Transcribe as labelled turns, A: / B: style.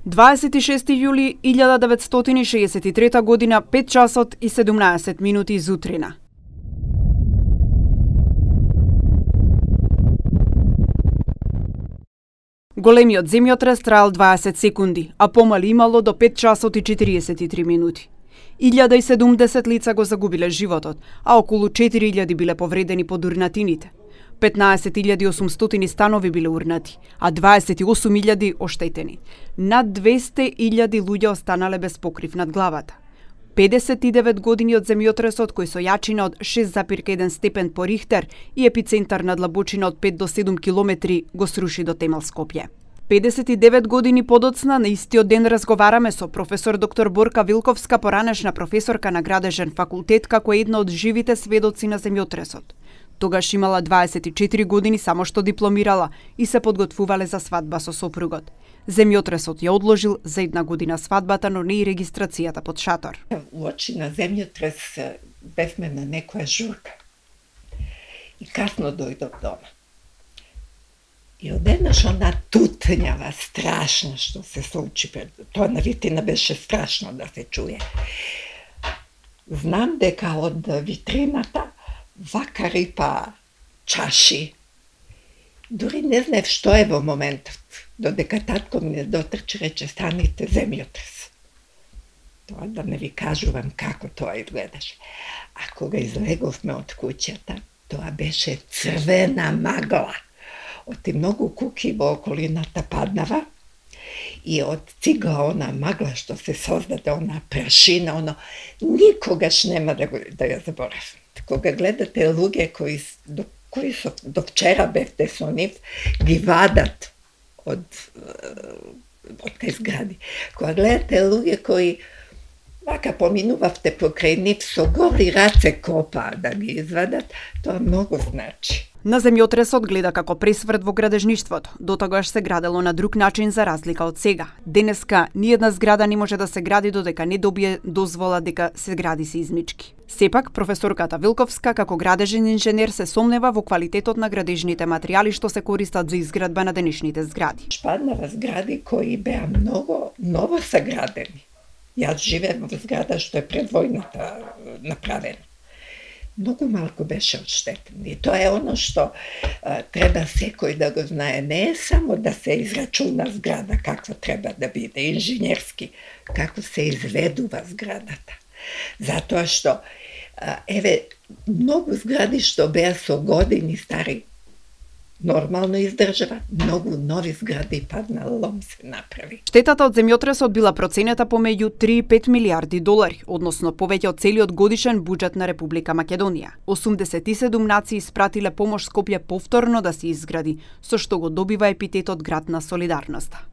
A: 26 јули 1963 година, 5 часот и 17 минути зутрина. Големиот земјотрес траел 20 секунди, а помали имало до 5 часот и 43 минути. 1070 лица го загубиле животот, а околу 4000 биле повредени под урнатините. 15.800 станови биле урнати, а 28.000 оштетени. Над 200.000 луѓе останале без покрив над главата. 59 години од земјотресот, кој со јачина од 6,1 степен по Рихтер и епицентар на длабочина од 5 до 7 километри, го сруши до темел Скопје. 59 години подоцна, на истиот ден разговараме со професор доктор Борка Вилковска, поранешна професорка на Градежен факултет, како една од живите сведоци на земјотресот. Тогаш имала 24 години, само што дипломирала и се подготвувале за свадба со сопругот. Земјотресот ја одложил за 1 година свадбата, но не и регистрацијата под шатор.
B: Уочи на земјотрес бевме на некоја журка и касно дојдов дома. И одеднаш она тутњава страшна што се случи пред... Тоа навистина беше страшно да се чуе. Знам дека од витрината вака рипа чаши. Дури не знаев што е во моментот, додека татко ми дотрчи, рече станите земјотрес. Тоа да не ви кажувам како тоа изгледаше. А кога излеговме од куќата, тоа беше црвена магла. Од ти многу куки во околината паднава и од цигла она магла што се создаде, она прашина, оно никогаш нема да ја заборавам. Кога гледате луѓе кои до вчера бевте со нив, ги вадат од тие згради. Кога гледате луѓе кои вака поминувавте покрај нив, со голи раце копа да ги извадат, тоа многу значи.
A: На земјотресот гледа како пресврт во градежништвото. Дотогаш се градело на друг начин за разлика од сега. Денеска ниедна зграда не може да се гради додека не добие дозвола дека се гради сеизмички. Сепак, професорката Вилковска, како градежен инженер, се сомнева во квалитетот на градежните материјали што се користат за изградба на денешните згради.
B: Паднава згради кои беа многу ново саградени. Јас живеем во зграда што е пред војната направена. Многу малку беше одштетен. И тоа е оно што треба секој да го знае. Не е само да се израчуна зграда каква треба да биде, инженерски, како се изведува зградата. Затоа што, еве, многу згради што беа со години стари, нормално издржава, многу нови згради падна лом се направи.
A: Штетата од земјотресот била проценета помеѓу 3 и 5 милиарди долари, односно повеќе од целиот годишен буџет на Република Македонија. 87 нации испратиле помош Скопје повторно да се изгради, со што го добива епитетот град на солидарноста.